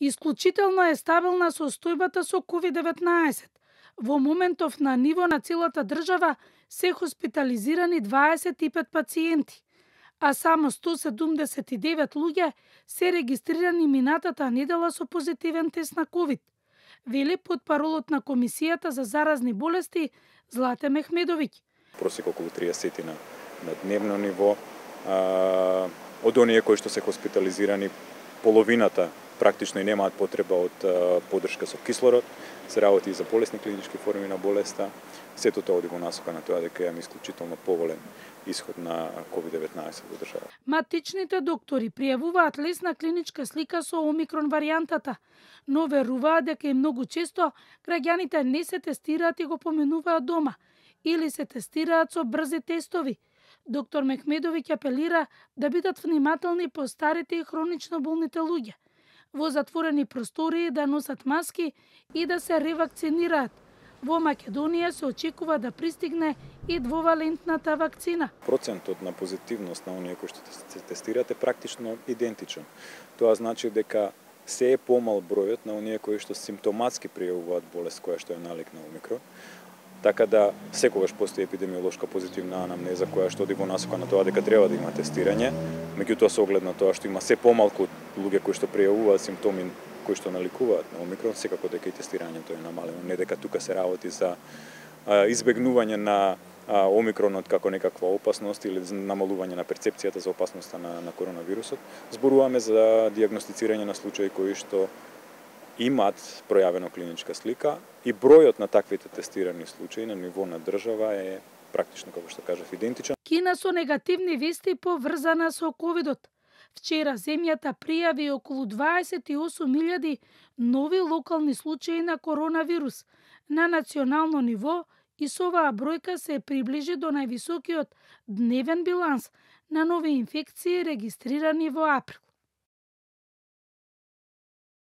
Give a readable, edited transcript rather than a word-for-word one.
Исклучително е стабилна состојбата со COVID-19. Во моментов на ниво на целата држава се хоспитализирани 25 пациенти, а само 179 луѓе се регистрирани минатата недела со позитивен тест на COVID, вели потпаролот на Комисијата за заразни болести Злате Мехмедовиќ. Просек околу 30 на дневно ниво. Од оние кои што се хоспитализирани, половината практично и немаат потреба од поддршка со кислород, се работи и за болесни клинички форми на болеста. Сето тоа оди во насока на тоа дека имаме исклучително поволен исход на COVID-19 во држава. Матичните доктори пријавуваат лесна клиничка слика со омикрон варијантата, но веруваат дека и многу често граѓаните не се тестираат и го поминуваат дома или се тестираат со брзи тестови. Доктор Мехмедовиќ апелира да бидат внимателни по старите и хронично болните луѓе, во затворени простории да носат маски и да се ревакцинираат. Во Македонија се очекува да пристигне и двовалентната вакцина. Процентот на позитивност на оние кои што се тестираат е практично идентичен. Тоа значи дека се е помал бројот на оние кои што симптоматски пријавуваат болест која што е налик на омикрон. Така да секогаш постои епидемиолошка позитивна анамнеза која што оди во насока на тоа дека треба да има тестирање, меѓутоа со оглед на тоа што има се помалку луѓе кои што пријавуваат симптоми кои што наликуваат на омикрон, секако дека и тестирањето е намалено, не дека тука се работи за избегнување на омикронот како некаква опасност или намалување на перцепцијата за опасноста на коронавирусот. Зборуваме за дијагностицирање на случаи кои што имаат пројавено клиничка слика и бројот на таквите тестирани случаи на ниво на држава е практично, како што кажав, идентичен. Кина со негативни вести поврзана со ковидот. Вчера земјата пријави околу 28.000 нови локални случаи на коронавирус на национално ниво и со оваа бројка се приближи до највисокиот дневен биланс на нови инфекции регистрирани во април.